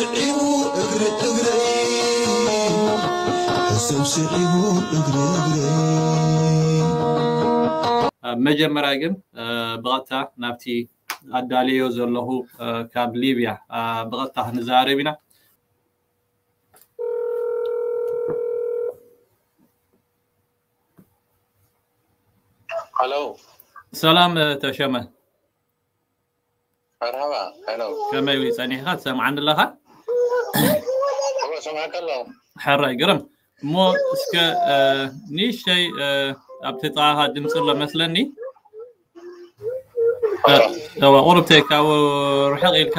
ስዒቡ እግሪ እግረይ፣ ሕሰብ ስዒቡ እግሪ እግረይ። ኣብ መጀመርያ ግን፣ እ፣ ብቐጥታ ናብቲ ኣዳልዮ ዘለኹ፣ እ፣ ካብ ሊብያ፣ እ፣ ብቐጥታ ክንዛረብ ኢና። ሃሎ። ሰላም፣ እ፣ ተሸመ። መርሃባ፣ ሃሎ። ከመይ ጸኒሕካ? ትሰምዓኒ ኣለኻ? እወ፣ ሰምዓካ ኣለኹ። ሕራይ፣ ግርም። እሞ እስከ፣ እ፣ ንእሽተይ፣ እ፣ ኣብቲ ጥቓኻ ድምፂ ኣሎ መስለኒ። እ፣ እወ። እወ፣ ቁሩብ ተይ ካብ ርሕቕ ኢልካ።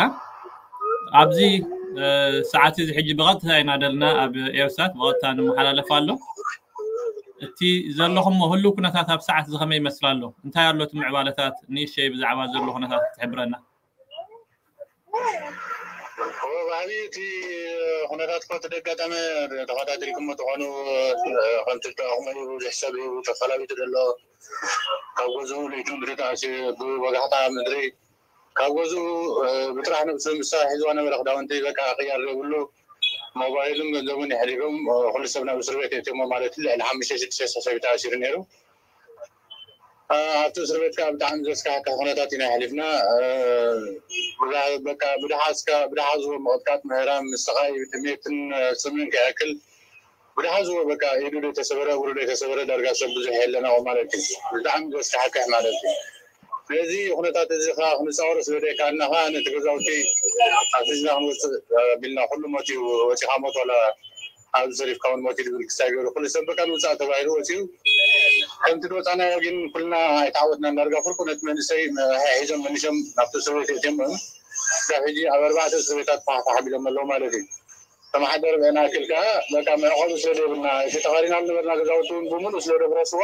ኣብዚ፣ እ፣ ሰዓት እዚ ሕጂ ብቐጥታ ኢና ደልና ኣብ ኤርሳት ብቐጥታ ንመሓላለፍ ኣሎ። እቲ ዘለኹሞ ህሉው ኩነታት ኣብ ሰዓት እዚ ከመይ ይመስል ኣሎ? እንታይ ኣሎ እቲ ምዕባለታት? ንእሽተይ ብዛዕባ ዘሎ ኩነታት ክትሕብረና። እወ፣ ባህሊ እቲ ኩነታት እኮ እቲ ደጋጣሚ ተኸታቲልኩሞ ትኾኑ፣ ከምቲ እተኣኹሞ እዩ፣ ብዙሕ ሰብ እዩ ተፈላሊጡ ዘሎ። ካብ ገዝኡ ለይቱ ምድሪ ተኣስዩ፣ ብወጋሕታ ምድሪ ካብ ገዝኡ፣ እ፣ ብጥራሕ ነብሱ ምሳ ሒዝዋ ነበረ ክዳውንቲ በቃ ቅያር ዘይብሉ፣ ሞባይልን ገንዘቡን የሕሊፎም፣ እ፣ ኩሉ ሰብ ናብ እስር ቤት የእትዮሞ ማለት እዩ። ልዕሊ ሓሙሽተ ሽዱሽተ ሰብ ተኣሲሩ ነይሩ። እ፣ ኣብቲ እስር ቤት ከዓ ብጣዕሚ ዘስካሕክሕ ኩነታት ኢና የሕሊፍና። እ፣ ብዳ-፣ በቃ ብድሓ እስካ-፣ ብድሓ ዝቦ ምቕጥቃጥ፣ ምህራም፣ ምስቓይ፣ ጥሜትን፣ እ፣ ጽምእን ከይኣክል ብድሓ ዝቦ በቃ ኢዱ ዘይተሰበረ፣ እግሩ ዘይተሰበረ ዳርጋ ሰብ ብዙሕ የለን ኣብኡ ማለት እዩ። ብጣዕሚ ዘስካሕክሕ ማለት እዩ። ነዚ ኩነታት እዚ ኸዓ ክንፃወሮ ስለ ዘይከኣልና ኸዓ ነቲ ገዛውቲ ኣትሒዝና ክንወፅእ፣ እ፣ ቢልና ኩሉ ሞት እዩ፣ ወፂኻ ሞት ዋላ ኣብዚ ተሪፍካ እውን ሞት እዩ ዝብል ክሳይ ገይሩ ኩሉ ሰብ በቃ ንውፃእ ተባሂሉ ወፂኡ። ከምቲ ዝወፃናዮ ግን ኩልና ኣይተዓወትናን። ዳርጋ ፍርቁ ነቲ መንእሰይ ሒዞም መሊሶም ናብቲ እስር ቤት የእትዮም። ክሳብ ሕጂ ኣብ ኣርባዕተ እስር ቤታት ፋሕ ፋሕ ኣቢሎም ኣለዉ ማለት እዩ። ተመሓደር ብዕና ክል ከዓ በቃ መዕቆቢ ስለ ዘይብልና፣ እቲ ተኻሪና ዝነበርና ገዛውቲ እውን ብምሉእ ስለ ዘፍረስዎ፣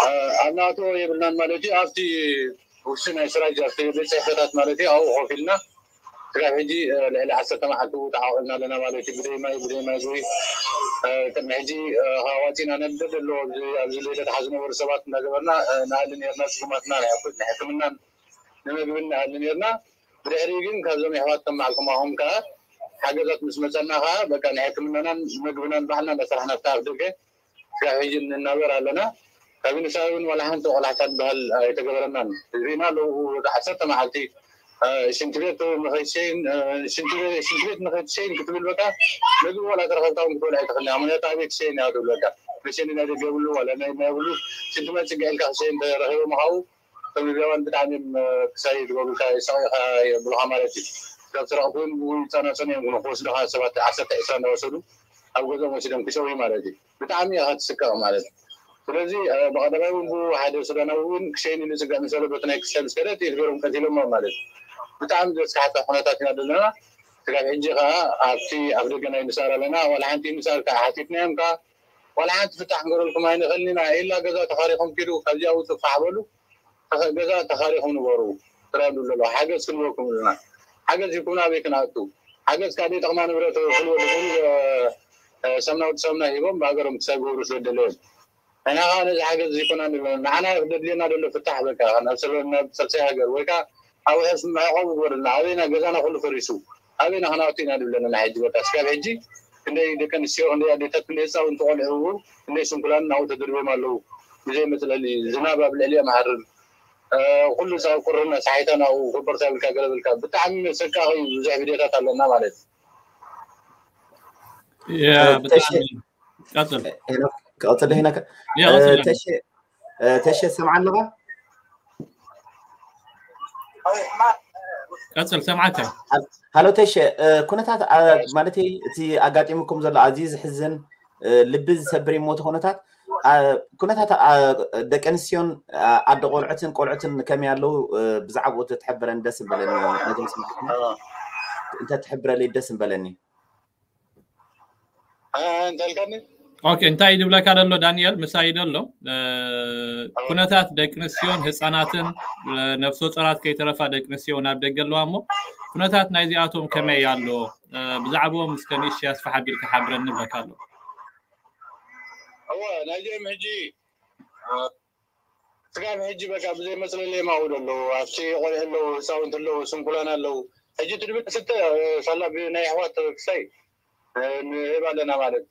እ፣ ኣብ ናእትዎ የብልናን ማለት እዩ። ኣብቲ ውሽጢ ናይ ስራጅ፣ ኣብቲ ቤት ጽሕፈታት ማለት እዩ፣ ኣብኡ ኮፍ ኢልና ክሳብ ሕጂ፣ እ፣ ልዕሊ ዓሰርተ መዓልቲ ተዓቒብና ኣለና ማለት እዩ። ብደይ ማይ፣ ብደይ ማይ ዝዊ፣ እ፣ ቅድሚ ሕጂ፣ እ፣ ካብ ዋፂና ነደድ ኣለዎ ኣብዚ፣ ኣብዚ ለይለ ተሓዝ ዝነበሩ ሰባት እንዳገበርና፣ እ፣ ንኣሊ ነርና፣ ስጉማትና ናይ ሕኩ-፣ ናይ ሕክምናን ንምግብን ንኣሊ ነርና። ብድሕሪኡ ግን ካብዞም የሕዋት ከም በዓልኩማኹም ከኣ ሓገዛት ምስ መጸና ከኣ በቃ ናይ ሕክምናናን ምግብናን ባዕልና እንዳሰራሕና ኣብታ ኣብ ደገ ክሳብ ሕጂ ንናበር ኣለና። ካብ ዩኒሳር እውን ዋላ ሓንቲ ቆላሕታ ዝበሃል ኣይተገበረናን። ሪእና ኣለዉ ዓሰርተ መዓልቲ፣ እ፣ ሽንቲ ቤት ንኸይትሸይን፣ እ፣ ሽንቲ ቤት፣ ሽንቲ ቤት ንኸይትሸይን ክትብል በቃ ምግቢ ዋላ ተረኸብካ እውን ክትበልዕ ኣይትኽእልን። ኣሞንያታ ኣበይ ትሸይን እያ ትብል በቃ። መሸኒ ናይ ደገ የብሉ ዋላ ናይ ማይ የብሉ። ሽንቲ ማይ ጽግዕ ኢልካ ክትሸይን ተረኺቦም ካብኡ ከም ሊብያውያን ብጣዕሚ እዮም፣ እ፣ ክሳይ ዝገብሩልካ፣ ይሳቐዩኻ የብሉኻ ማለት እዩ። ካብ ስረቕቲ እውን ብኡ ይጸናጸኑ እዮም፣ ግን ክወስዱኻ ሰባት ዓሰርተ ዒስራ እንዳወሰዱ ኣብ ገዝኦም ወሲዶም ክሸውዩ ማለት እዩ። ብጣዕሚ ኢኻ ትስቀቕ ማለት እዩ። ስለዚ፣ እ፣ ብቐዳማይ እውን ብኡ ሓደ ሱዳናዊ እውን ክሸይን ኢሉ ይጽገዕ ምስ በሎ በቲ ናይ ክሳይ ምስ ከደ ጥይት ገይሮም ቀቲሎሞ ማለት እዩ። ብጣዕሚ ዘስካሕክሕ ኩነታት ኢና ዘለና። ስጋብ ሕጂ ከኣ ኣብቲ ኣፍ ደገ ናይ ዩኒሳር ኣለና። ዋላ ሓንቲ ዩኒሳር ከኣ ሓቲትናዮም ከኣ ዋላ ሓንቲ ፍታሕ ክንገብረልኩም ኣይንኽእልን ኢና። ኢላ ገዛ ተኻሪኹም ኪዱ፣ ካብዚኣ ውጹ ፋሕ በሉ። ተኸ-፣ ገዛ ተኻሪኹም ንበሩ። ትረዱ ኣለዉ። ሓገዝ ክንበኩም ኣለና። ሓገዝ ይኩን ኣበይ ክንኣቱ? ሓገዝ ካብ ዘይጠቕማ ንብረት ክንወዱ፣ እ፣ እ፣ ሰምና ወዲ ሰምና ሂቦም ብሃገሮም ክሳብ ገብሩ ስለ ደለዮም። ንሕና ኸዓ ነዚ ሓገዝ ዘይኮና ንብለን። ንዓና እዩ ክደድልየና ደሎ ፍታሕ በቃ። ናብ ሰለ-፣ ናብ ሳልሳይ ሃገር ወይ ከኣ ኣብ ሕስ መዕቆቢ ግበረልና። ኣበይና ገዛና ኩሉ ፈሪሱ። ኣበይና ክነኣቱ ኢና ንብለና ናይ ሕጂ በቃ። እስካብ ሕጂ ክንደይ ደቂ ኣንስትዮ፣ ክንደይ ኣዴታት፣ ክንደይ ህፃውንቲ ቆልዑ፣ ክንደይ ስንኩላን ናብኡ ተደርብዮም ኣለዉ። ብዘይ መፅለሊ፣ ዝናብ ኣብ ልዕሊኦም ይሃርም። እ፣ ኩሉ ፃ-፣ ቁርና፣ ሳሒታ ናብኡ፣ ኮበርታ ይብልካ፣ ገለ ይብልካ። ብጣዕሚ መሰቃቒ ብዙሕ ቪድዮታት ኣለና ማለት እዩ። ያ፣ እ፣ ብጣዕሚ። ተሸ-፣ ቀፅል። ሄኖክ፣ ክቐፅል ሄኖክ። ያ፣ እ፣ ቀፅል። ተሸ-፣ እ፣ ተሸ፣ ትሰምዓ ኣለኻ? ቀፅል፣ ሰምዓካ። ሃል-፣ ሃሎ ተሸ፣ እ፣ ኩነታት፣ አ፣ ማለተይ እቲ ኣጋጢሙኩም ዘሎ ኣዝዩ ዝሕዝን፣ እ፣ ልቢ ዝሰብር እዩ እሞ እቲ ኩነታት፣ አ፣ ኩነታት፣ አ፣ ደቂ ኣንስትዮን፣ አ፣ ኣደ ቆልዑትን ቆልዑትን ከመይ ኣለዉ፣ እ፣ ብዛዕባኡ ተትሕብረን ደስ ምበለኒ። ነዞም ስማዕትና እንተትሕብረለይ ደስ ምበለኒ። እ፣ እንታይ ኢልካኒ? ኦኬ፣ እንታይ እዩ ዝብለካ ዘሎ ዳንኤል? ምሳይ ዘሎ፣ እ፣ ኩነታት ደቂ ኣንስትዮን ህፃናትን፣ እ፣ ነፍሰ ጾራት ከይተረፋ ደቂ ኣንስትዮ ናብ ደገ ኣለዋ እሞ፣ ኩነታት ናይዚኣቶም ከመይ ኣሎ? እ፣ ብዛዕባኦም እስከ ንእሽተይ ኣስፍሕ ኣቢልካ ሓብረኒ እብለካ ኣለኹ። እወ፣ ናይዚኦም ሕጂ፣ እ፣ ስጋብ ሕጂ በቃ ብዘይ መፅለሊ እዮም ኣብኡ ዘለዉ። ኣብቲ ቆልዑ ኣለዉ፣ ህፃውንቲ ኣለዉ፣ ስንኩላን ኣለዉ። ሕጂ ትድብል ስተ ሳላ ብናይ ኣሕዋት ክሳይ ንህብ ኣለና ማለት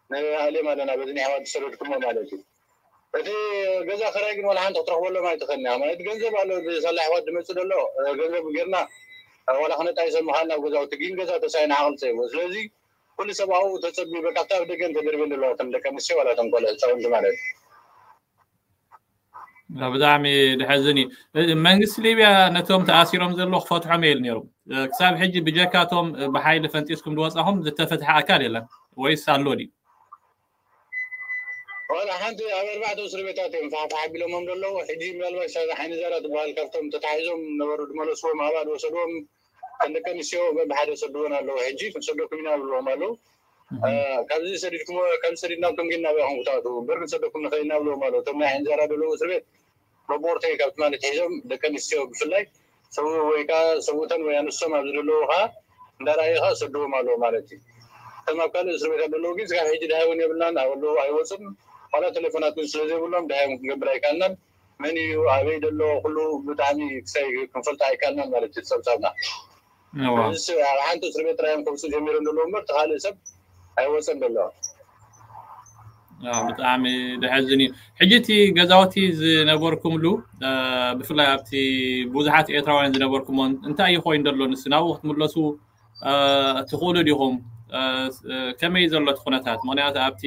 ንኣልም ኣለና በዚ ናይ ኣሕዋት ዝሰደድኩሞ ማለት እዩ። እቲ ገዛ ክራይ ግን ዋላ ሓንቲ ክትረኽበሎም ኣይትኽእልን ኢኻ ማለት ገንዘብ ኣሎ ሳላ ኣሕዋት ዝመፅእ ዘሎ ገንዘብ ጌርና ዋላ ክነጣይሰ ምኻል ናብ ገዛውቲ ግን ገዛ ተሳይና ዓቕል ፀይቦ ስለዚ ኩሉ ሰብ ኣብኡ ተፀቢበ ካብታ ኣብ ደገ እንተደርብን ዘለዋ እቶም ደቂ ኣንስትዮ ዋላ እቶም ቆልዑ ህፃውንቲ ማለት እዩ። ብጣዕሚ ድሐዝን እዩ። መንግስቲ ሊብያ ነቶም ተኣሲሮም ዘለዉ ክፈትሖም እየ ኢሉ ነይሩ። ክሳብ ሕጂ ብጀካቶም ብሓይሊ ፈንጢስኩም ዝወፃኹም ዝተፈትሐ ኣካል የለን ወይስ ኣሎ ድዩ? ዋላ ሓንቲ ኣብ ኣርባዕተ እስር ቤታት እዮም ፋሕፋሕ ኣቢሎሞም ዘለዉ። ሕጂ ምናልባት ሳዛ ዓይኒ ዘራ ትበሃል ካብቶም ተታሒዞም ነበሩ ዝመለስዎም ኣባል ወሰድዎም። ከም ደቂ ኣንስትዮ በብሓደ ሰድዎን ኣለዉ። ሕጂ ክንሰደኩም ኢና ብልዎም ኣለዉ። ካብዚ ሰዲድኩም ካብዚ ሰዲድናኩም ግን ናበይ ኢኹም ክትኣትዉ እምበር ክንሰደኩም ንኽእል ኢና ብልዎም ኣለዉ። እቶም ናይ ዓይኒ ዘራ ዘለዉ እስር ቤት መቦርተይ ካብ ትማሊ ትሒዞም ደቂ ኣንስትዮ ብፍላይ ሰብኡ ወይ ከዓ ሰብኡተን ወይ ኣንስቶም ኣብዚ ዘለዉ ከዓ እንዳረኣዩ ከዓ ሰድዎም ኣለዉ ማለት እዩ። እቶም ኣብ ካልእ እስር ቤታት ዘለዉ ግን ስጋብ ሕጂ ድሃይ እውን የብልናን ኣብ ኣለዉ ኣይወፅን ዋላ ቴሌፎናት እውን ስለዘይብሎም ድሃይ እውን ክንገብር ኣይካልናን። መን እዩ ኣበይ ዘሎ ኩሉ ብጣዕሚ ክሳይ ክንፈልጦ ኣይካልናን ማለት እዩ ጸብጻብና። ኣብ ሓንቲ እስር ቤት ጥራዮም ከውፅኡ ጀሚሮም ዘለዉ እምበር ተካልእ ሰብ ኣይወፀን ዘሎ። ብጣዕሚ ድሐዝን እዩ። ሕጂ እቲ ገዛውቲ ዝነበርኩምሉ ብፍላይ ኣብቲ ብዙሓት ኤርትራውያን ዝነበርኩሞ እንታይ እዩ ኮይኑ ዘሎ ንስ ናብኡ ክትምለሱ ትኽእሉ ዲኹም? ከመይ ዘሎ እቲ ኩነታት? ምክንያቱ ኣብቲ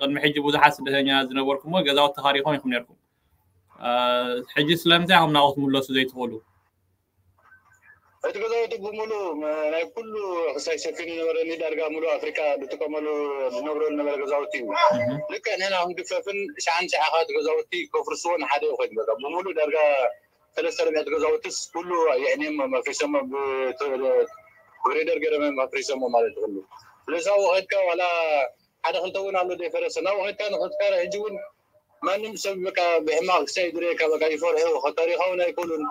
ቅድሚ ሕጂ ብዙሓት ስደተኛ ዝነበርኩሞ ገዛውቲ ተኻሪኾም ኢኹም ነርኩም። ሕጂ ስለምንታይ ኢኹም ናብኡ ክትምለሱ ዘይትኽእሉ? እቲ ገዛውቲ ብምሉ ናይ ኩሉ ክሳይ ሰፊኑ ነበረኒ ዳርጋ ሙሉ ኣፍሪካ ዝጥቀመሉ ዝነብረሉ ነበረ ገዛውቲ እዩ። ልክዕ ንሕና ክንግፈፍን ሸዓን ሸዓኻት ገዛውቲ ከፍርስዎን ሓደ ኮይኑ በቃ ብሙሉ ዳርጋ ሰለስተ ርብዕቲ ገዛውትስ ኩሉ የዕንዮም ኣፍሪሶሞ ብግሬደር ገረመ ኣፍሪሶሞ ማለት ይኽእሉ። ስለዚ ኣብኡ ከድካ ዋላ ሓደ ክልተ እውን ኣሎ ዘይፈረሰ ናብኡ ከድካ ንክትካረ ሕጂ እውን ማንም ሰብ በቃ ብሕማቕ ክሳይ ድረየካ በቃ ይፈርሑ ታሪኻውን ኣይክእሉን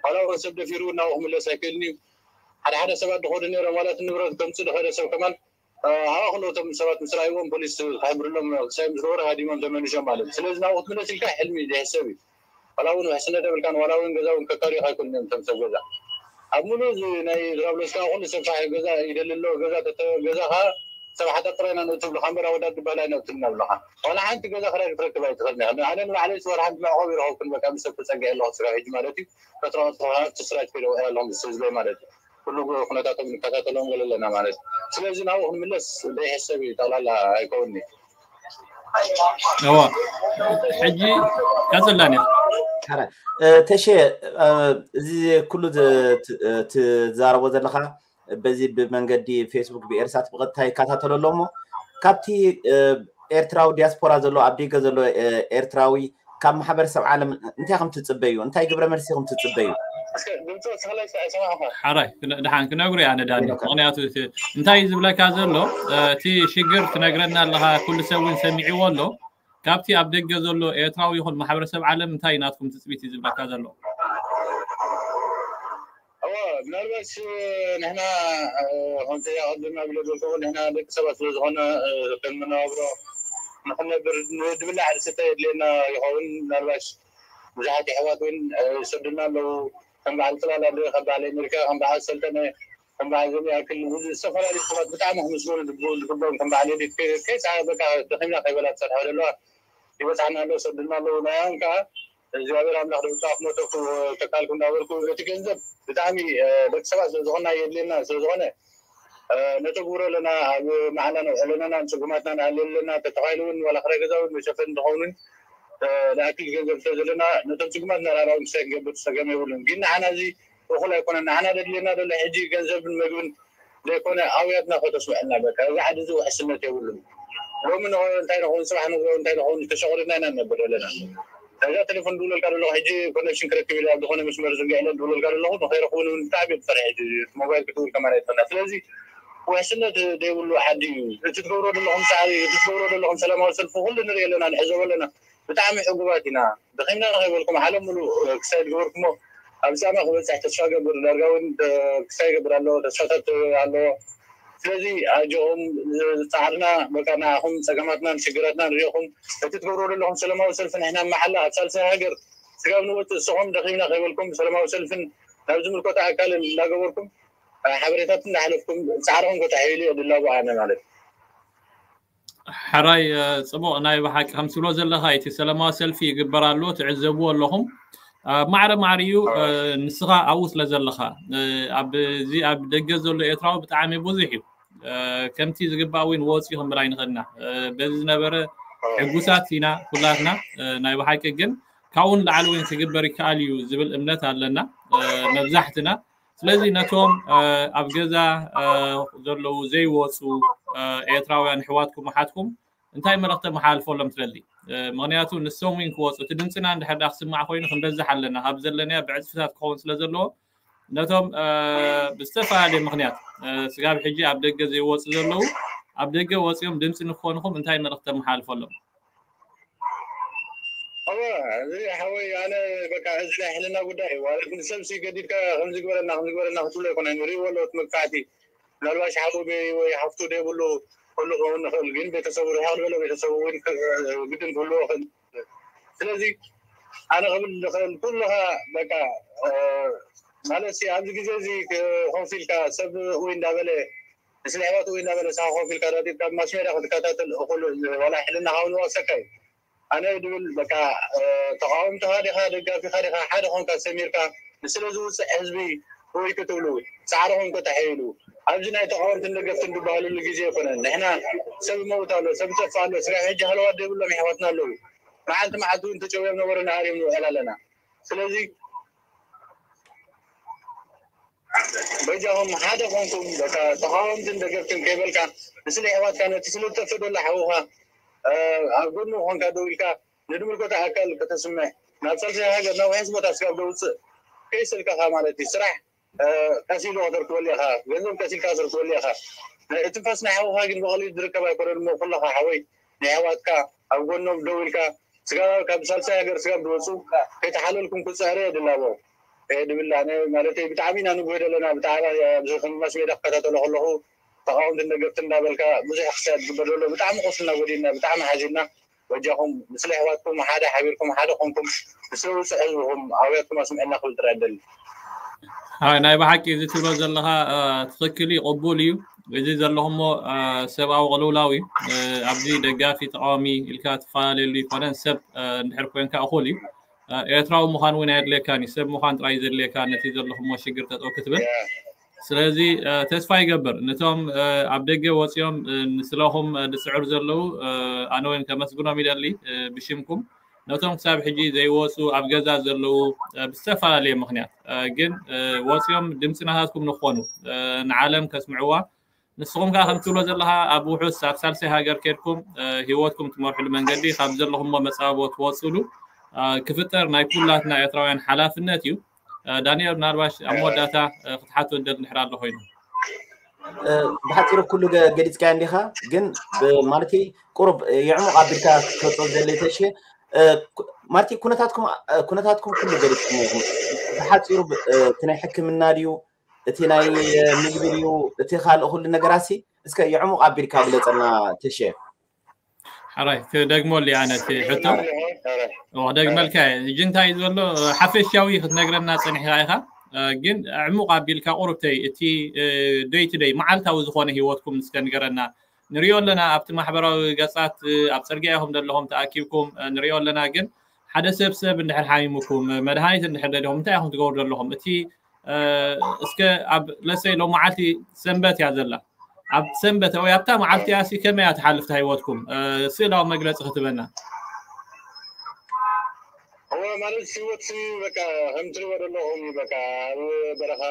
ዋላ እውን ሰብ ደፊሩ ናብኡ ክምለስ ኣይክእልን እዩ። ሓደ ሓደ ሰባት ድኸዱ ነይሮም ዋላ እቲ ንብረት ከምፅእ ድኸደ ሰብ ከማን ሃዋ ክልኦቶም ሰባት ምስ ረኣይዎም ፖሊስ ክሕብርሎም ክሳይ ምስ ገበሩ ሃዲሞም ተመሊሶም ማለት እዩ። ስለዚ ናብኡ ክትምለስ ኢልካ ሕልሚ እዩ ዘይሕሰብ እዩ። ዋላ እውን ውሕስነት የብልካን ዋላ እውን ገዛ እውን ከካሪኻ ኣይኮኑን እዮም እቶም ሰብ ገዛ። ኣብ ሙሉ እዚ ናይ ድራብሎስ ከዓ ኩሉ ሰብ ፋሕ ገዛ ይደሊ ኣሎ ገዛ ተተ ገዛ ከዓ ሰብ ሓጠር ጥራይ ኢና ንእትብሉ ካብ እምበር ኣወዳት ዝበሃል ኣይነእትብልና ብለኻ። ዋላ ሓንቲ ገዛ ክራይ ክትረክብ ኣይትኽእልን ኢኻ። ኣነ ንባዕለይ ወር ሓንቲ መዕቆብ ይረኸብኩን በቃ ምስ ሰብ ተፀጊዐ ኣለኹ ስራሕ ሕጂ ማለት እዩ። ፈጥራ ፈጥራ ስራሕ ከይደ ውዒ ኣለኹ ምስ ህዝበይ ማለት እዩ። ኩሉ ኩነታቶም ንከታተሎም ገለ ኣለና ማለት እዩ። ስለዚ ናብኡ ክንምለስ ዘይሕሰብ እዩ ጠቕላላ ኣይከውንኒ። እዋ ሕጂ ቀፅላኒ ተሸ እዚ ኩሉ ትዛረቦ ዘለካ በዚ ብመንገዲ ፌስቡክ ብኤርሳት ብቐጥታ ይከታተሎ ኣሎ እሞ ካብቲ ኤርትራዊ ዲያስፖራ ዘሎ ኣብ ደገ ዘሎ ኤርትራዊ ካብ ማሕበረሰብ ዓለም እንታይ ከም ትፅበዩ እንታይ ግብረ መልሲ ከም ትፅበዩ ሓራይ ድሓን ክነግሩ እያ ነዳኒ ምክንያቱ እንታይ ዝብለካ ዘሎ እቲ ሽግር ትነግረና ኣለካ ኩሉ ሰብ እውን ሰሚዕዎ ኣሎ ካብቲ ኣብ ደገ ዘሎ ኤርትራዊ ይኹን ማሕበረሰብ ዓለም እንታይ ናትኩም ትፅቢት እዩ ዝብለካ ዘሎ እዋ ምናልባሽ ንሕና ከምቲ ኣቐድም ኣቢለ ዝበልኩ ንሕና ደቂ ሰባት ስለ ዝኾነ ከም መነባብሮ ንክነብር ዝብላዕ ዝስተ የድልየና ይኸውን ምናልባሽ ብዙሓት የሕዋት እውን ይሰዱና ኣለዉ ከም በዓል ፅላል ኣለ ከም በዓል ኣሜሪካ ከም በዓል ሰልጠነ ከም በዓል ዘም ያክል ዝተፈላለዩ ሰባት ብጣዕሚ ክምስገኑ ዝግብኦም ከም በዓል ኤዲት ከይፃ በቃ ደኺምና ከይበላ ትሰርሐ ዘለዋ ይበፅሓና ኣሎ ይሰዱና ኣለዉ ናያም ከዓ እግዚኣብሔር ኣምላኽ ደብፃ ክመተኩ ተካልኩ እንዳበልኩ እቲ ገንዘብ ብጣዕሚ ደቂ ሰባት ስለዝኾና የድልየና ስለዝኾነ ነተግብሮ ኣለና ኣብ መዓላ ነውዕለናና ንፅጉማትና ንኣልለና ተተኻኢሉ እውን ዋላ ክራይ ገዛ እውን መሸፈን እንትኸውንን ንኣክል ገንዘብ ስለዘለና ነቶም ፅጉማት ናራራዊ ምሳይ ክንገብር ፀገም የብሉን ግን ንዓና እዚ እኹል ኣይኮነን ንዓና ደድልየና ዘሎ ሕጂ ገንዘብን መግብን ዘይኮነ ኣውያትና ከተስምዐልና በቃ እዚ ዓዲ እዚ ውሕስነት የብሉን ሎሚ ንኸ እንታይ ንኸውን ፅባሕ ንጎ እንታይ ንኸውን ተሸቑሪና ኢና ንነብር ዘለና እዛ ቴሌፎን ድውለልካ ዘለኹ ሕጂ ኮኔክሽን ክረክብ ኢለ ኣብ ዝኾነ መስመር ዝርግዐ ኢለ ድውለልካ ዘለኹ ንኸይረኽቡን እውን ብጣዕሚ ብፀርሒ ሕጂ ሞባይል ክትውል ከማን ኣይትኽእልና ስለዚ ውሕስነት ዘይብሉ ዓዲ እዩ እቲ ትገብሮ ዘለኹም ፃዕሪ እቲ ትገብሮ ዘለኹም ሰላማዊ ሰልፊ ኩሉ ንርኢ ኣለና ንሕዘቦ ኣለና ብጣዕሚ ዕጉባት ኢና ደኺምና ከይበልኩም ዓለም ሙሉእ ክሳይ ዝገበርኩሞ ኣብ ፃማ ክበፅሕ ተስፋ ገብር ዳርጋ እውን ክሳይ ይገብር ኣሎ ተስፋታት ኣለዎ ስለዚ ኣጆኹም ፃዕርና በቃ ንዓኹም ፀገማትናን ሽግራትናን ሪኢኹም እቲ ትገብርዎ ዘለኹም ሰላማዊ ሰልፊ ንሕና መሓላ ኣብ ሳልሳይ ሃገር ስጋብ ንወፅእ እስኹም ደኺምና ከይበልኩም ሰላማዊ ሰልፍን ናብ ዝምልከቶ ኣካል እንዳገበርኩም ሓበሬታት እንዳሓለፍኩም ፃዕርኹም ከተሕይሉ እየ ድላቦ ኣነ ማለት እዩ። ሕራይ ጽቡቕ ናይ ብሓቂ ከም ትብሎ ዘለኻ እቲ ሰላማዊ ሰልፊ ይግበር ኣሎ ትዕዘብዎ ኣለኹም። ማዕረ ማዕሪኡ ንስኻ ኣብኡ ስለ ዘለኻ ኣብዚ ኣብ ደገ ዘሎ ኤርትራዊ ብጣዕሚ ብዙሕ እዩ። ከምቲ ዝግባእ እውን ወፂኡ ክንብል ኣይንኽእልና። በዚ ዝነበረ ሕጉሳት ኢና ኩላትና። ናይ ብሓቂ ግን ካብኡ ንላዕሊ እውን ክግበር ይከኣል እዩ ዝብል እምነት ኣለና። መብዛሕትና ስለዚ ነቶም ኣብ ገዛ ዘለዉ ዘይወፁ ኤርትራውያን ኣሕዋትኩም ኣሓትኩም እንታይ መልእኽቲ መሓላልፈሎም ትደሊ? ምክንያቱ ንሶም እውን ክወፁ እቲ ድምፅና እንድሕር ዳ ክስማዕ ኮይኑ ክንበዝሕ ኣለና ካብ ዘለናዮ ብዕፅፍታት ክኸውን ስለ ዘለዎ ነቶም ብዝተፈላለየ ምክንያት ስጋብ ሕጂ ኣብ ደገ ዘይወፁ ዘለዉ ኣብ ደገ ወፂኦም ድምፂ ንክኾንኹም እንታይ መልእኽቲ ተመሓላልፈሎም? እወ እዚ ሓወይ ኣነ በቃ እዚ ናይ ሕልና ጉዳይ እዩ። ንሰብ ሲ ገዲድካ ከምዚ ግበረና ከምዚ ግበረና ክትብሎ ኣይኮነን። ሪእዎ ኣለዎ እቲ መግፋዕቲ። ምናልባሽ ሓው ወይ ሓፍቱ ደይብሉ ክህሉ ክኸውን ይኽእል፣ ግን ቤተሰቡ ርሕቕ ዝበለ ቤተሰቡ እውን ግድን ክህልዎ ይኽእል። ስለዚ ኣነ ክብል ዝኽእል ኩልኻ በቃ ማለት ኣብዚ ግዜ እዚ ኮፍ ኢልካ ሰብ ወይ እንዳበለ ንስለ ኣሕዋቱ ወይ እንዳበለ ንስኻ ኮፍ ኢልካ ዳጢጥካ ብማስ ሜድያ ክትከታተል እኹል ዋላ ሕልና ካብ ንወቅሰካ እዩ። ኣነ ድብል በቃ ተቃወምትኻ ዲኻ ደጋፊኻ ዲኻ ሓደ ኾንካ ሰሚርካ ንስለ ዝውፅእ ህዝቢ ወይ ክትብሉ ፃዕርኹም ከተሐይሉ ኣብዚ ናይ ተቃወምትን ደገፍትን ዝበሃሉሉ ግዜ ኣይኮነን። ንሕና ሰብ መውት ኣሎ፣ ሰብ ጠፍ ኣሎ፣ ስጋ ሕጂ ሃለዋት ዘይብሎም ኣሕዋትና ኣለዉ። መዓልቲ መዓልቲ እውን ተጨውዮም ነበሩ ንኣርዮም ንውዕል ኣለና። ስለዚ በጃኹም ሓደ ኮንኩም በቃ ተቃወምትን ደገፍትን ከይበልካ ንስለ ኣሕዋትካ ነቲ ስለ ዝጠፍእ ዘሎ ሓውኻ ኣብ ጎኑ ኮንካ ደው ኢልካ ንድምልከቶ ኣካል ከተስምዕ ናብ ሳልሳይ ሃገር ናብ ውሕስ ቦታ ስጋብ ደውፅእ ከይሰልከኻ ማለት እዩ። ስራሕ ቀስ ኢሉ ከተርክበሉ ኢኻ፣ ገንዘብ ቀስ ኢልካ ከተርክበሉ ኢኻ። እትንፋስ ናይ ሓውኻ ግን ብቐሊሉ ዝርከብ ኣይኮነን እሞ ኩለኻ ሓወይ ናይ ኣሕዋትካ ኣብ ጎኖም ደው ኢልካ ስጋብ ካብ ሳልሳይ ሃገር ስጋብ ዝወፁ ከይተሓለልኩም ክፅዕረ የድላቦ ድብል ኣነ ማለት ብጣዕሚ ኢና ንጉህ ዘለና። ብጣዕሚ ኣብዚ ከም ማስ ሜዳ ክከታተሎ ከለኹ ተቃወምትን ደገፍትን እንዳበልካ ብዙሕ ክሳድ ዝግበር ዘሎ ብጣዕሚ ቆስልና ጎዲልና ብጣዕሚ ሓዚንና። በጃኹም ምስለ ኣሕዋትኩም ሓደ ሓቢርኩም ሓደ ኮንኩም ንስለ ውፅዕ ህዝብኹም ኣውያትኩም ኣስምዕና ክብል ጥራይ ደሊ። ናይ ብሓቂ እዚ ትብሎ ዘለኻ ትኽክል እዩ፣ ቅቡል እዩ። እዚ ዘለኹሞ ሰብኣዊ ቅልውላው እዩ። ኣብዚ ደጋፊ ተቃዋሚ ኢልካ ትፈላለየሉ ይኮነን፣ ሰብ እንድሕር ኮንካ እኹል እዩ። ኤርትራዊ ምዃን እውን ኣየድልየካን እዩ፣ ሰብ ምዃን ጥራይ ዘድልየካ ነቲ ዘለኹሞ ሽግር ጠጠው ክትብል። ስለዚ ተስፋ ይገብር ነቶም ኣብ ደገ ወፂኦም ንስለኹም ዝፅዕሩ ዘለዉ ኣነ እውን ከመስግኖም ይደሊ ብሽምኩም። ነቶም ክሳብ ሕጂ ዘይወፁ ኣብ ገዛ ዘለዉ ብዝተፈላለየ ምክንያት ግን ወፂኦም ድምፂ ናታትኩም ንኾኑ ንዓለም ከስምዕዋ ንስኹም ከዓ ከም ትብሎ ዘለካ ኣብ ውሑስ ኣብ ሳልሳይ ሃገር ከድኩም ሂወትኩም ትመርሕሉ መንገዲ ካብ ዘለኹሞ መፃቦ ትወፅሉ ክፍጠር ናይ ኩላትና ኤርትራውያን ሓላፍነት እዩ። ዳንኤል ምናልባሽ ኣብ መወዳእታ ክትሓቶ ደል ንሕር ኣሎ ኮይኑ ብሓፂሩ ኩሉ ገሊፅካ እንዲኻ ግን ማለት ቁሩብ የዕሙቕ ኣቢልካ ክትገልፆ ዘለ ተሸ ማለት ኩነታትኩም ኩነታትኩም ኩሉ ገሊፅኩም ኢኹም። ብሓፂሩ እቲ ናይ ሕክምና ድዩ እቲ ናይ ምግቢ ድዩ እቲ ካልእ ኩሉ ነገራሲ እስከ የዕሙቕ ኣቢልካ ግለፀልና ተሸ። ሕራይ ክደግመሉ እየ ኣነ እቲ ሕቶ ክደግመልካ እየ። ሕጂ እንታይ እዩ ዘሎ ሓፈሻዊ ክትነግረና ፀኒሕካ ኢኻ ግን ዕሙቕ ኣቢልካ ቁሩብተይ እቲ ደይ ቱ ደይ መዓልታዊ ዝኾነ ሂወትኩም እስከ ንገረና። ንሪኦ ኣለና ኣብቲ ማሕበራዊ ገፃት ኣብ ፅርግያ ኢኹም ዘለኹም ተኣኪብኩም ንሪኦ ኣለና ግን ሓደ ሰብ ሰብ እንድሕር ሓሚሙኩም መድሃኒት እንድሕር ደሊኹም እንታይ ኢኹም ትገብሩ ዘለኹም እቲ እስከ ኣብ ለሰይ ሎ መዓልቲ ሰንበት እያ ዘላ ኣብ ሰንበት ወይ ኣብታ መዓልቲ እያ ሲ ከመይ እያ ትሓልፍ እታ ህይወትኩም ስእላዊ መግለፂ ክትበና እወ ማለት ህይወት በቃ ከም ትሪእዎ ዘለኹም በቃ ኣብ በረኻ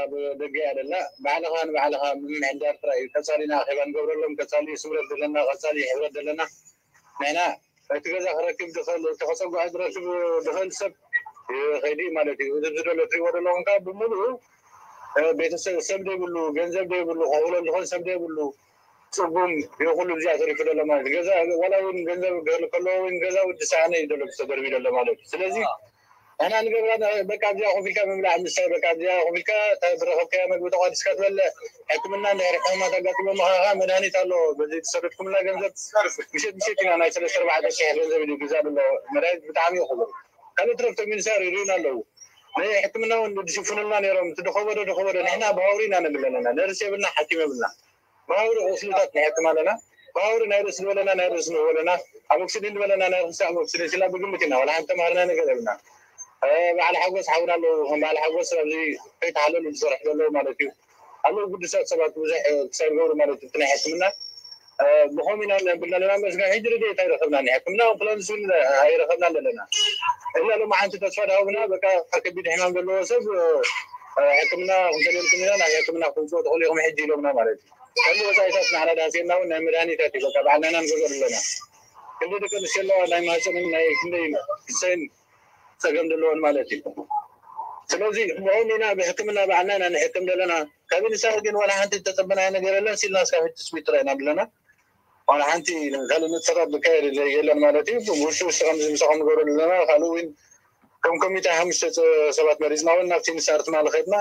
ደገ እያ ደላ ባዕልኻ ንባዕልኻ ምምሕዳር ጥራይ እዩ ቀፃሊና ኣኼባ ንገብረሎም ቀፃሊ ስምረት ዘለና ቀፃሊ ሕብረት ዘለና ንሕና እቲ ገዛ ክረክብ ዝኽእል እቲ ከፀጓዕ ዝረክብ ዝኽእል ሰብ ይኸይድ እዩ ማለት እዩ። እዚ ዝደሎ ትሪእዎ ዘለኹም ከዓ ብምሉኡ ቤተሰብ ሰብ ዘይብሉ ገንዘብ ዘይብሉ ከኽእሎ ዝኽእል ሰብ ዘይብሉ ፅጉም ይኹሉ እዚኣ ተሪፉ ዘሎ ማለት እዩ። ገዛ ዋላ እውን ገንዘብ ክህል ከለዎ እውን ገዛ ውዲ ሰኣነ እዩ ዘሎ ተደርቢ ዘሎ ማለት እዩ። ስለዚ ንሕና ንገብራ በቃ ኣብዚኣ ኮፍ ኢልካ ምብላዕ ምስታይ በቃ ኣብዚኣ ኮፍ ኢልካ ዝረኸብካዮ መግቢ ተቋዲስካ ትበልዕ ሕክምና እንድሕር ሕማማት ኣጋጢሞምኻ ከዓ መድሃኒት ኣሎ በዚ ዝሰደድኩምና ገንዘብ ምሸት ምሸት ኢና ናይ ሰለስተ ኣርባዕተ ሽሕ ገንዘብ እዩ ግዛ ኣሎ መድሃኒት ብጣዕሚ እዩ ክቡር ካልእ ትረፍቶ ሚኒስተር ይርእዩና ኣለዉ ናይ ሕክምና እውን ድሽፍኑልና ነይሮም። እቲ ድኸበዶ ድኸበዶ ንሕና ብሃውሪ ኢና ነብል ኣለና። ነርስ የብልና፣ ሓኪም የብልና። ብሃውሪ ቁስልታት ንሕክም ኣለና። ብሃውሪ ናይ ርእሲ ዝበለና ናይ ርእሲ ንህቦ ኣለና። ኣብ ኦክሲድን ዝበለና ናይ ርእሲ ኣብ ኦክሲድን ስላ ብግምት ኢና። ዋላ ሓንቲ ተማሃርና ነገር የብልና። በዓል ሓጎስ ሓውና ኣለዉ። ከም በዓል ሓጎስ ኣብዚ ከይተሓለሉ ዝሰርሑ ዘለዉ ማለት እዩ። ኣለዉ ግዱሳት ሰባት ብዙሕ ክሳብ ዝገብሩ ማለት እዩ። እቲ ናይ ሕክምና ብኸምኡ ኢና ንብል ኣለና። መስጋን ሕጂ ረድኤት ኣይረኸብናን። ሕክምና ኣምቡላንስ እውን ኣይረኸብናን ዘለና። እና ሎማዓንቲ ተስፋ ዳሃቡና በቃ ከቢድ ሕማም ዘለዎ ሰብ ሕክምና ክንፈልየልኩም ኢና፣ ናብ ሕክምና ክትምፅኡ ትኽእሉ ኢኹም ሕጂ ኢሎምና ማለት እዩ። ከምዚ ወፃኢታት ንዓና ዳሃስየና እውን ናይ መድሃኒታት እዩ በቃ ባዕልና ኢና ንገዝኦ ዘለና። ክንደይ ደቂ ኣንስትዮ ኣለዋ ናይ ማህፀንን ናይ ክንደይ ክሰይን ፀገም ዘለዎን ማለት እዩ። ስለዚ ብኦም ኢና ብሕክምና ባዕልና ኢና ንሕክም ዘለና። ካብ ንሳ ግን ዋላ ሓንቲ ዝተፀበናዮ ነገር የለን። ሲልና እስካብ ሕጂ ትስቢት ጥራይ ኢና ዘለና። ዋላ ሓንቲ ካልእ ንጥፈታት ዝካየድ የለን ማለት እዩ። ውሽጢ ውሽጢ ከምዚ ምሳኹም ንገብረሉ ዘለና ካልእ እውን ከም ኮሚቴ ሓሙሽተ ሰባት መሪፅና እውን ናብቲ ንሳር ትማሊ ከድና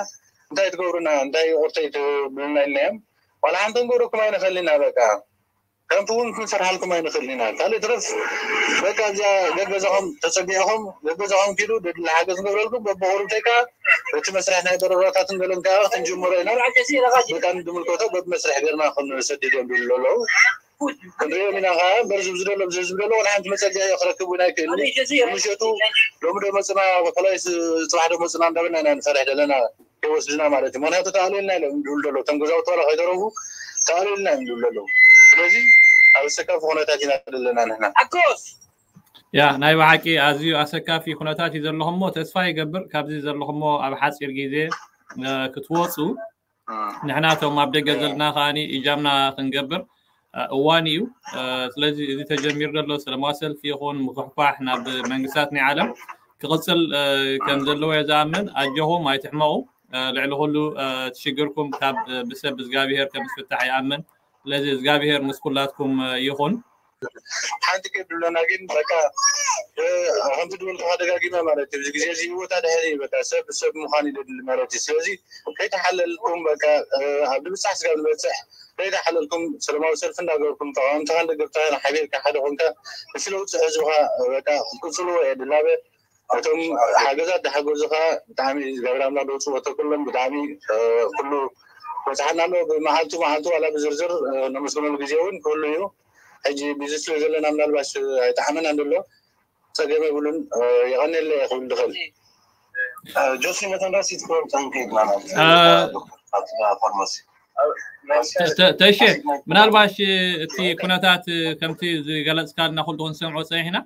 እንታይ ትገብሩና እንታይ ቁርተይ ትብሉና ኢልናዮም። ዋላ ሓንቲ ንገብረኩም ኣይንኽእል ኢና በቃ ከምቲ እውን ክንሰርሓልኩም ኣይንኽእል ኢና። ካልእ ትረፍ በቃ እዚኣ ገገዛኹም ተፀጊዕኹም ገገዛኹም ኪዱ ደድሊ ሓገዝ ንገብረልኩም በብቁሩብተይ ከዓ እቲ መስርሕ ናይ በረራታትን ገለን ከዓ ክንጅምሮ ኢና። በቃ ንድምልከቶ በብመስርሕ ገርና ክንሰድድ እዮም ዝብሉ ኣለዉ። ክንሪኦም ኢና ከዓ እምበር ዝብዚ ደሎ ብዚ ዝብሉ ኣለዉ ንሓንቲ መፀጊዒ ክረክብ እውን ኣይክእልን። ምሸቱ ሎሚ ዶ መፅና ፈላይ ፅባሕ ዶ መፅና እንዳበልና ኢና ንፈርሕ ዘለና። ከይወስድና ማለት እዩ። ምክንያቱ ተኣልዩልና ኢሎም ዝብሉ ዘለዉ እቶም ገዛውቲ ዋላ ከይተረፉ ተኣልዩልና እዮም ዝብሉ ዘለዉ። ስለዚ ኣብ ኣሰካፊ ኩነታት ኢና ዘለና ንሕና። ኣኮስ ያ ናይ ብሓቂ ኣዝዩ ኣሰካፊ ኩነታት እዩ ዘለኹሞ። ተስፋ ይገብር ካብዚ ዘለኹሞ ኣብ ሓፂር ግዜ ክትወፁ ንሕና እቶም ኣብ ደገ ዘለና ከዓኒ እጃምና ክንገብር እዋን እዩ። ስለዚ እዚ ተጀሚሩ ዘሎ ሰለማዊ ሰልፊ ይኹን ምኩሕኳሕ ናብ መንግስታት ናይ ዓለም ክቕፅል ከም ዘለዎ እየ ዝኣምን። ኣጆኹም ኣይትሕመቑ። ልዕሊ ኩሉ እቲ ሽግርኩም ካብ ብሰብ እግዚኣብሄር ከም ዝፍታሕ ይኣምን። ስለዚ እግዚኣብሄር ምስ ኩላትኩም ይኹን። ሓንቲ ከድለና ግን በቃ ከምቲ ድብል ከዓ ደጋጊመ ማለት እዩ። እዚ ግዜ እዚ ህይወት ኣድሕን እዩ። በቃ ሰብ ሰብ ምዃን ይደሊ ማለት እዩ። ስለዚ ከይተሓለልኩም በቃ ኣብ ድብፃሕ ስጋብ ንበፅሕ ከይተሓለልኩም ሰለማዊ ሰልፊ እንዳገበርኩም ተቃወምትኻ ንደገፍትኻ ሓቢርካ ሓደ ኮንካ ንስለ ውፅእ ህዝብኻ በቃ ክትቅፅልዎ እየ ድላበ። እቶም ሓገዛት ዝሓገዙኻ ብጣዕሚ እግዚኣብሔር ኣምላኽ ደውፅዎ ተኩሎም ብጣዕሚ ኩሉ በፅሓና ኣሎ። ብመዓልቱ መዓልቱ ዋላ ብዝርዝር ነመስግነሉ ግዜ እውን ክህሉ እዩ። ሕጂ ቢዚ ስለ ዘለና ምናልባሽ ኣይጠዓመናን ዘሎ ፀገም የብሉን። የቐንየለ እየ ክብል ዝኽእል። ጆሲ ነተን ረሲት ክበልፀን ከይድና ፋርማሲ ተይሸ ምናልባሽ እቲ ኩነታት ከምቲ ዝገለፅካልና ኩሉ ክንሰምዖ ፀኒሕና።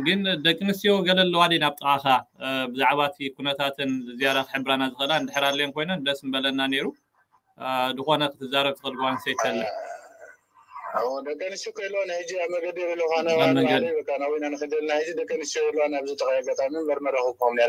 ግን ደቂ ኣንስትዮ ገለ ኣለዋ ድየን ኣብ ጥቓኻ ብዛዕባ እቲ ኩነታተን ዝያዳ ክሕብራና ዝኽእላ እንድሕር ኣለየን ኮይነን ደስ ምበለና ነይሩ። ዝኾነ ክትዛረብ ትኽእል ጓል ኣንስተይቲ ኣለ። ደቂ ኣንስትዮ ከይለዋን ሕጂ ኣብ መገዲ ዘለኹ ኣነ ኣብ መገዲ። ባዕለይ በቃ ናብይና ንኽደልና ሕጂ ደቂ ኣንስትዮ የለዋን ኣብዚ ጥቓይ ኣጋጣሚ መርመራ ክቆም ነረ